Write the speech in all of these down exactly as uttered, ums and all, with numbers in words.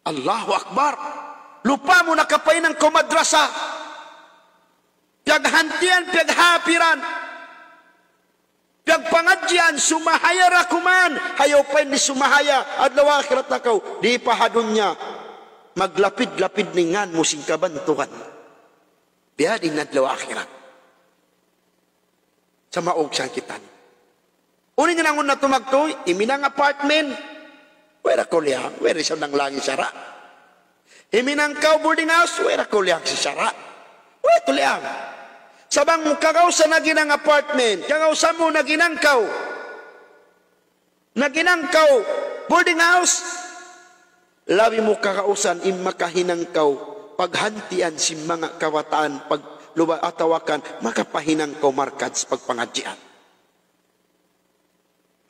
Allahu Akbar. Lupa mu nakapahinang kaw madrasa. Piyaghantian, piyaghapiran, piyagpangadjian, sumahaya ra kuman. Hayaw pa in di' sumahaya, adlaw akhirat na kaw. Di' pa ha dunya. Maglapid-lapid in ngan mu sin kabantugan. Biya' diin adlaw akhirat. Sa' maug sa kita ini. Unu in hinangun natu' magtuy, himinang apartment. Way ra kaw liyang, way ra isab nanglang sin sara'. Himinang kaw boarding house, way ra kaw liyang sin sara'. Way ra kaw liyang. Sa' bang mu kagausan naghinang apartment, kagausan mu naghinang kaw. Naghinang kaw boarding house, labi mu kagausan in makahinang kaw paghantian sin manga kabataan, pagluba atawa kan makapahinang kaw markaz pagpangadjian.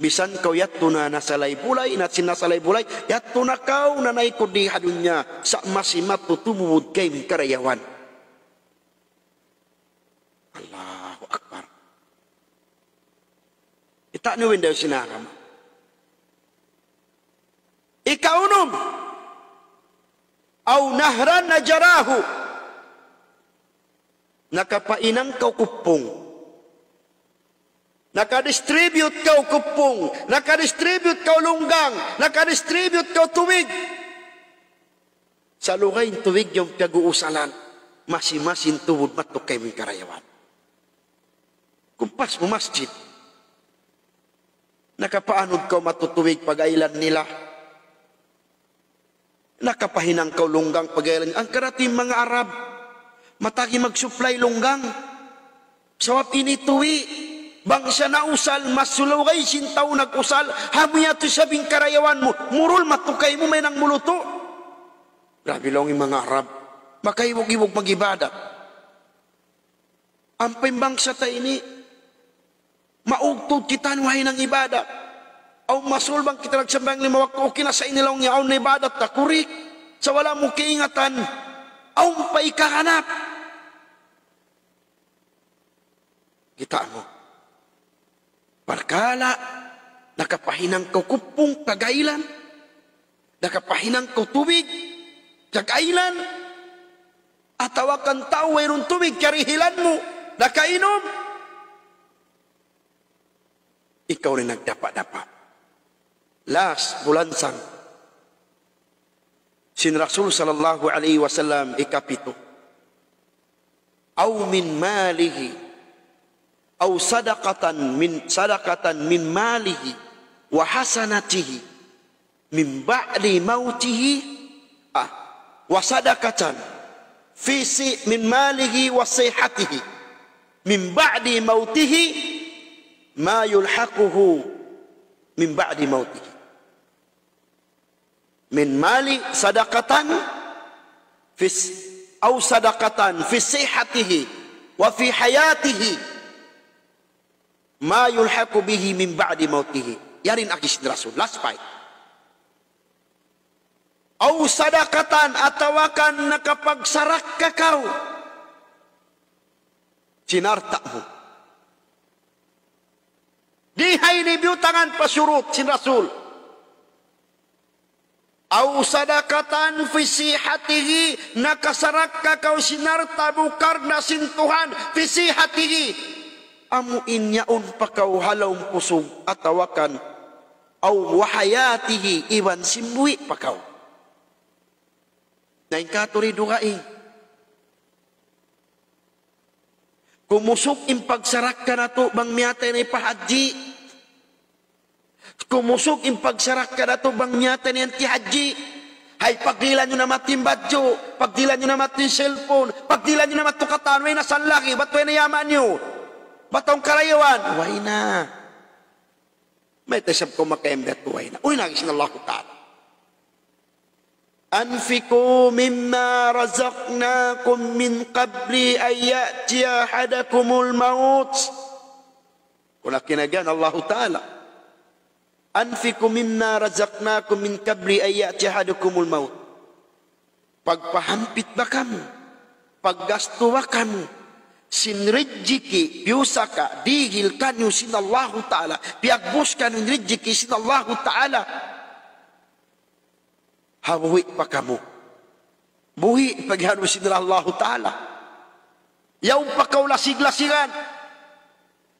Misan kaw yadtu na nasalay bulay, na sin nasalay bulay, yadtu na kaw nanaykud di ha dunya, sa' masi matutumubud kaymu in karayawan. Allahu Akbar. Kita' niyu in dayn sin agama. Ikaunum, أو نهرا أجراه. Nakapahinang kaw kuppung. Nakadistribute kaw kuppung. Nakadistribute kaw lunggang. Nakadistribute kaw tubig. Sa' lugay in tubig yan piyag-uusalan, masi-masi in tubud matuk kaymu in karayawan. Kumpas mu masjid. Nakapaanud kaw matu tubig pag-aylan nila. Nakapahinang kaw lunggang pag-aylan. Hangkan da in manga Arab, matagi mag-supply lunggang. Sabab ini tuwi', bang siya nausal, mas lugay sin tau nag-usal, amu yadtu isab in karayawan mu, murul matu kaymu mahinang mulutu'. Grabe laung in manga Arab, makaibug-ibug mag-ibadat. Ampa in bangsa ta ini, maugtud kita nuhainang ibadat. Awn masul bang kita nagsambahayang lima waktu, okay na sa ini laung niya, awn na ibadat ta, kurik. Sa' wala' mu kaingatan, awn pa ikahanap. Kita' mu. Parkala', nakapahinang kaw kuppung, pag-aylan. Nakapahinang kaw tubig, pag-aylan. Atawa kan tau wayruun tubig, karihilan mu, nakainum. Ikaw in nagdapa-dapa. Last, bulansang. Sin Rasul sallallahu alayhi wasallam ikapitu. أو من ماله، أو صدقة من، صدقة من ماله وحسناته من بعد موته، آه، وصدقة في ص-، من ماله وصحته من بعد موته ما يلحقه من بعد موته. من مال صدقة في ص-، أو صدقة في صحته وفي حياته ما يلحق به من بعد موته. Yari in agi sin Rasul. Last five. أو صدقة, atawa kan nakapagsarakka kaw sin alta' mu. Di' ha ini biyutangan pa surut sin Rasul. أو صدقة في صحته, nakasarakka kaw sin alta' mu karna' sin Tuhan, في صحته. Amu in yaun pa kaw ha lawm kusug atawa kan, أو وحياته, iban sin buhi' pa kaw. Na in katu' di' dugaing. Kumusug in pagsarakka natu' bang miyatay na in pahadji. Kumusug in pagsarakka natu' bang miyatay na in tihadji. Hay, pagdihilan niyu na matu in badju', pagdihilan niyu na matu in cellphone, pagdihilan niyu na matu katan, way na san lagi', bat way na yaman niyu. Bat awn karayawan, way na. Mayta' isab kaw makayambat way na. Uy, nagis na Allahu Ta'ala. أنفقوا مما رزقناكم من قبل أن يأتي أحدكم الموت. Kunu' kiyanagan Allahu Ta'ala. أنفقوا مما رزقناكم من قبل أن يأتي أحدكم الموت. Pagpahampit ba kamu, paggastu ba kamu, sin rijiki', piyusaka, dihil kaniyu sin Allahu Ta'ala, piyagbus kaniyu in rijiki' sin Allahu Ta'ala. Ha buhi' pa kamu. Buhi' pa gihanun sin Allahu Ta'ala. Yaun pa kaw lasig-lasigan.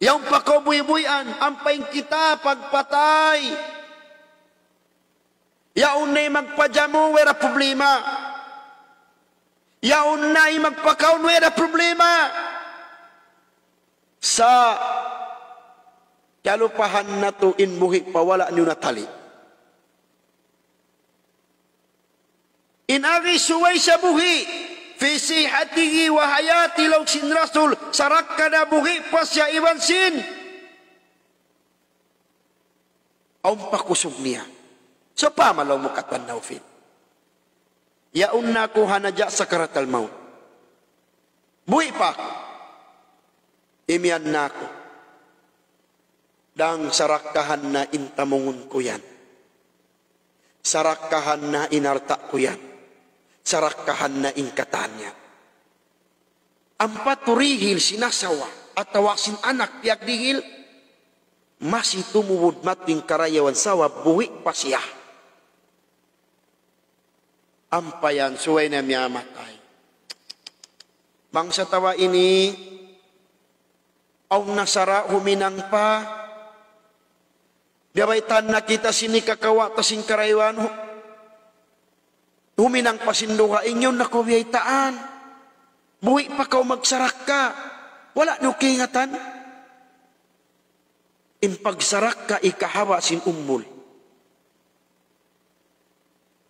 Yaun pa kaw buhi'-buhian. Ampa in kita pagpatay. Yaun na in magpajamu, way da problema. Yaun na in magpakaun, way da problema. Sa' kalupahan natu' in buhi' pa wala' niyu natali'. In agi subay siya buhi', في صحته وحياته laung sin Rasul, sarakka na buhi' pa siya iban sin awn pa kusug niya. Sawpama laung mu katan Naufil, yaun na aku ha naja' sakaratal maut. Buhi' pa aku. Imiyan na aku. Dang sarakkahan na in tamungun ku yan. Sarakkahan na in alta' ku yan. Sarakkahan na in katan yan. Ampa turihil sin asawa, atawa sin anak piyagdihil, masi tumubud mating karayawan sabab buhi' pa siya. Ampa yan, subay na miyamatay. Bangsa ta ba ini, awn na sara' huminang pa, biya' baytaan na kita sin hikakawa' ta sin karayawan, hu-, huminang pa sin dugaing, yaun na kaw biyaytaan. Buhi' pa kaw magsarakka. Wala' niyu kaingatan. In pagsarakka hikahaba' sin umul.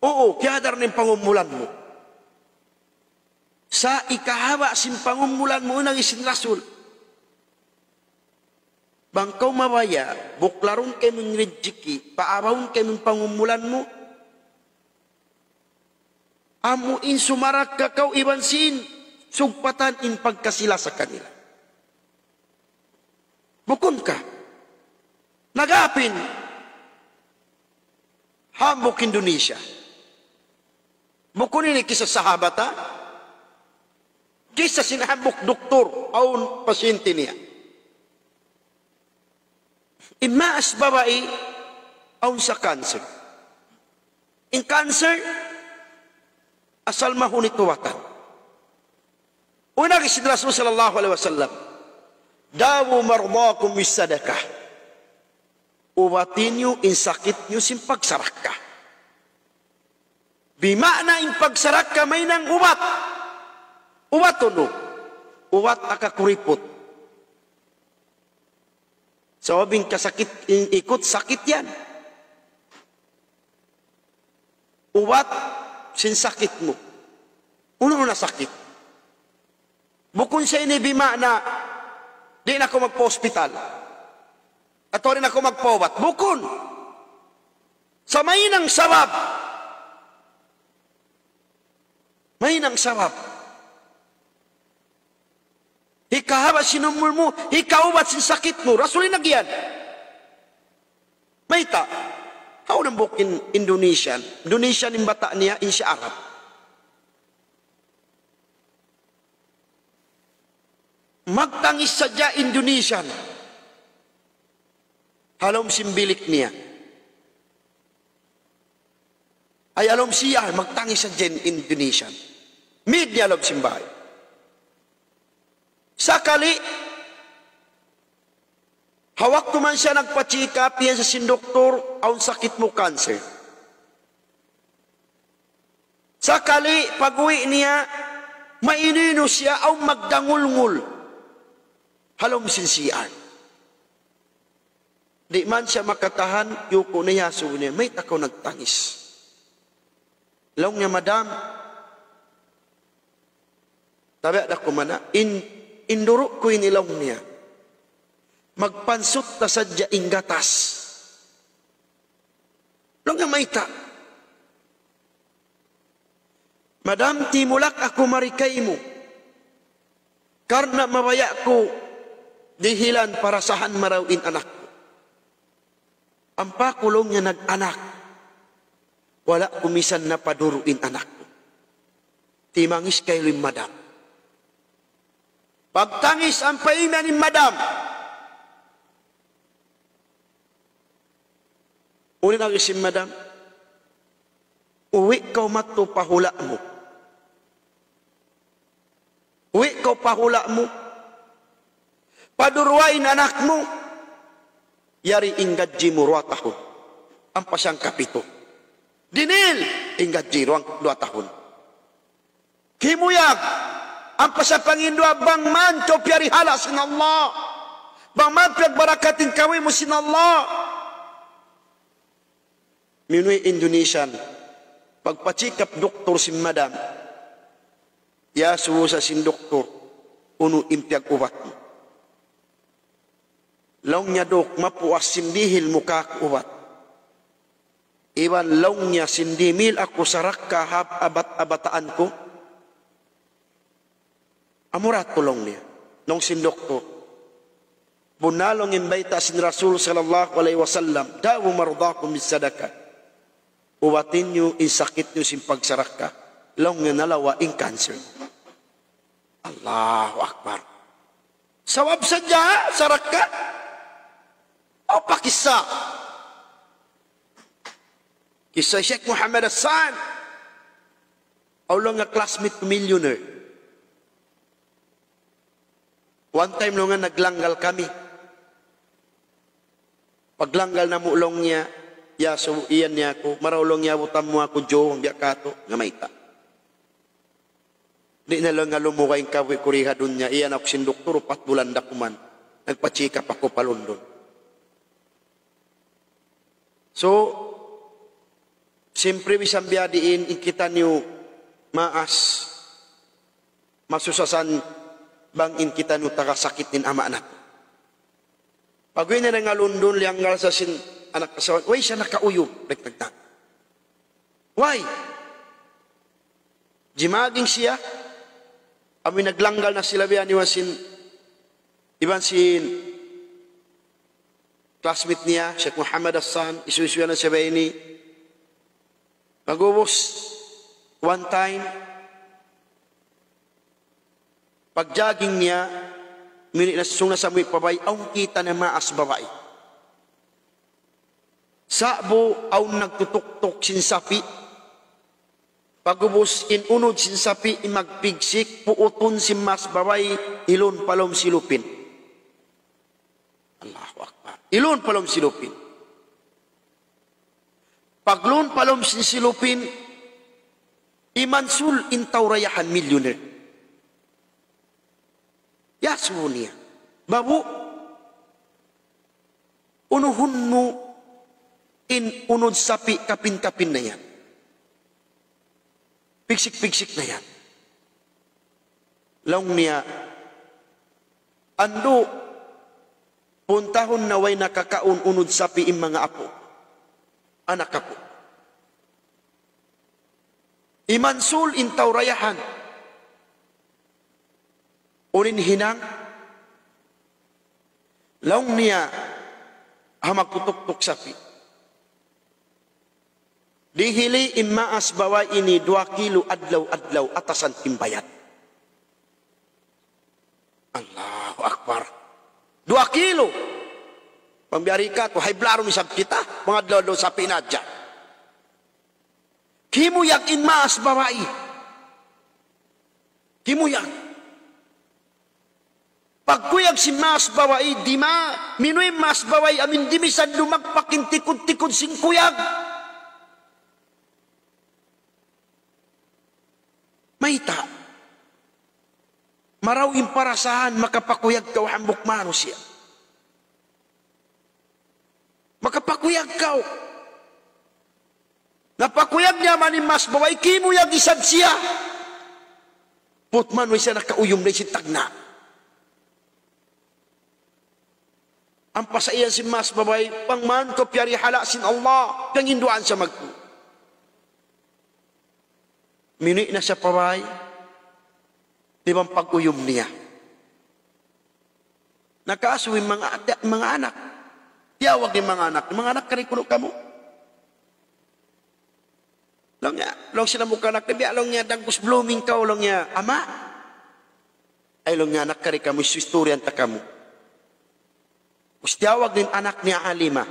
Uu, kiyadar na in pangumulan mu. Sa' hikahaba' sin pangumulan mu, agi sin Rasul. Bang kaw mabaya', buklarun kaymu in rijiki', paabahun kaymu in pangumulan mu. Amu in sumarakka kaw iban sin sugpatan in pagkasi-lasa kanila. Bukun ka. Nag-apin. Hambuuk Indonesia. Bukun ini kissa sahabat, ha? Kissa sin hambuuk doktor, awn pasyente niya. In maas babai, awn sa cancer. In cancer, asal mahunit ubatan. Unu in agi sin Rasul sallallahu alayhi wasallam, داووا مرضاكم بالصدقة. Ubati niyu in sakit niyu sin pagsarakka. Bima'na in pagsarakka mahinang ubat. Ubat unu? Ubat ha kakuriput. Sabab in kasakit, in ikut sakit yan. Ubat sin sakit mu. Unu-unu na sakit. Bukun sa ini bima'na, di' na kaw magpa-hospital. Atawa di' na kaw magpaubat. Bukun. Sa' mahinang sabab. Mahinang sabab. Hikahaba' sin umul mu, hikaubat sin sakit mu. Rasul in agi yan. Mayta'? Hawnu hambuuk in Indonesian? Indonesian in bata' niya, in siya Arab. Magtangis sadja Indonesian. Ha lawm sin bilik niya. Ay, ha lawm siya, magtangis sadja in Indonesian. Mid niya ha lawm sin bāy. Sakali, ha waktu man siya nagpa-check up, iyan sa sin doktor, awn sakit mu, cancer. Sakali, pag-uwi' niya, mainu-inu siya, awn magdangulngul. Ha lawm sin C R. Di' man siya makatahan, yuku' na, iyasubu niya, "Mayta' kaw nagtangis?" Laung niya, "Madam, tabiya' da ku mana, in, in duru' ku ini," laung niya. "Magpansut da sadja in gatas." Laung niya, "Mayta'?" "Madam, timulak aku mari kaymu. Karna' mabaya' ku dihilan parasahan marayaw in anak ku." "Ampa aku," laung niya, "nag-anak. Wala' ku misan napaduru' in anak ku." Timangis kailu in madam. Pagtangis ampa imiyan in madam. Unu in agi sin madam? Uwi' kaw madtu pa hula' mu. Uwi' kaw pa hula' mu. Paduruwa in anak mu. Yari in gadji mu duwa tahun. Ampa siya hangkapitu. Dinihil in gadji duwa, duwa tahun. Kimuyag. Ampa siya panginduwa bang man kaw piyarihala' sin Allah. Bang man piyagbarakatin kaw mu sin Allah. Minuwi' Indonesian. Pagpa-check up doktor sin madam. Iyasubu sa sin doktor. Unu in piyag-ubat mu. Laung niya, "Dok, mapuas sin dihil mu kāku' ubat. Iban laung niya sin dimihil aku sarakka ha abat-abataan ku." "Amura tuud," laung niya. Laung sin doktor, "Bunnal laung in bayta' sin Rasul sallallahu alayhi wasallam, 'Dawu mardakum bis sadaqah.' Ubati niyu in sakit niyu sin pagsarakka." Laung niya, "Nalawa' in cancer." Allahu Akbar. Sabab sadja sarakka. Aw pa kissa. Kissa Sheikh Muhammad Hassan. Awn laung niya classmate ku millionaire. One time laung niya naglanggal kami. Paglanggal namu' laung niya, iyasubu, iyan niya aku, "Marayaw," laung niya, "abutan mu aku, Joe, biya' katu'." Nga mayta'. Di' na laung niya lumugay in kabuhi' ku di ha dunya, iyan aku sin doktor, upat bulan da kuman. Nagpa-check up aku pa London. So, siyempre, bisan biya' diin in kitaniyu maas, masusasan bang in kitaniyu taga sakit in ama' natu'. Pag-uwi' niya dayn ha London, liyanggal sa sin anak asawa, "Way siya nakauyum," nagtagna'. "Way?" Jimaging siya, amu in naglanggal na sila biya' niyu sin, iban sin classmate niya, Sheikh Muhammad Hassan, isu-isu yan siya biya' ini. Pag'ubus, one time, pag-jogging niya, mini na sung na sa amuin pa bay, awn kita' niya maas babai. Sa'bu awn nagtutuktuk sin sapi'. Pag'ubus in unud sin sapi' in magpigsik, puutun sin maas babai, ilun pa lawm silupin. Allahu Akbar. Ilun pa lawm silupin. Paglun pa lawm sin silupin, imansul in tau dayahan, millionaire. Iyasubu niya, "Babu', unuhun mu in unud sapi' kapin-kapin na yan. Pigsik-pigsik na yan." Laung niya, "Andu', puntahun na way nakakaun unud sapi' in manga apu', anak apu'. Imansul in tau dayahan." "Unu in hinang?" Laung niya, "Ha magtutuktuk sapi', dihili in maas babai ini duwa kilo adlaw-adlaw atasan timbayan." Allahu Akbar. Duwa kilo. Pambiari katu', high blood isab kita, manga adlaw-adlaw sapi' na hadja. Kimuyag in maas babai. Kimuyag. Pagkuyag sin maas babai, dima, minuwi' in maas babai, amu in di' misan lumagpak in tikud-tikud sin kuyag. Mayta'? Marayaw in parasahan, makapakuyag kaw hambuuk manusiya'. Makapakuyag kaw. Napakuyag niya man in maas babai, kimuyag isab siya. Put man, way siya nakauyum dayn sin tagna'. Ampa sa iyan sin maas babai, "Bang man kaw piyarihala' sin Allah," piyanginduwaan siya magtuy. Minuwi' na siya pa bay, di' bang pag-uyum niya. Nakaasubu in manga, manga anak. Tiyawag in manga anak. Manga anak, kari kunu' kamu. Laung niya, laung sin hambuuk anak niya, biya' laung niya, dagbus blooming kaw, laung niya, ama. Ay, laung niya, anak, kari kamu, isu-istoryahan ta kamu. Ubus tiyawag in anak niya Alima.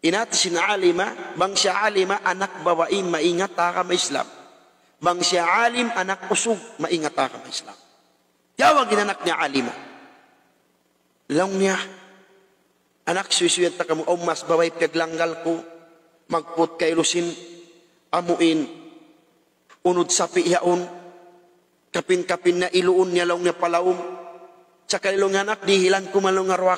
In hati sin alima, bang siya alima, anak babai maingat ha agama Islam. Bang siya alim, anak usug maingat ha agama Islam. Tiyawag in anak niya alima. Laung niya, "Anak, suysuyan ta kamu, awn mas babai piyaglanggal ku, magput kailu sin amuin unud sapi' yaun, kapin-kapin na iluun niya," laung niya, "pa lawm. Sakali," laung niya, "anak, dihilan ku man," laung niya, "duwa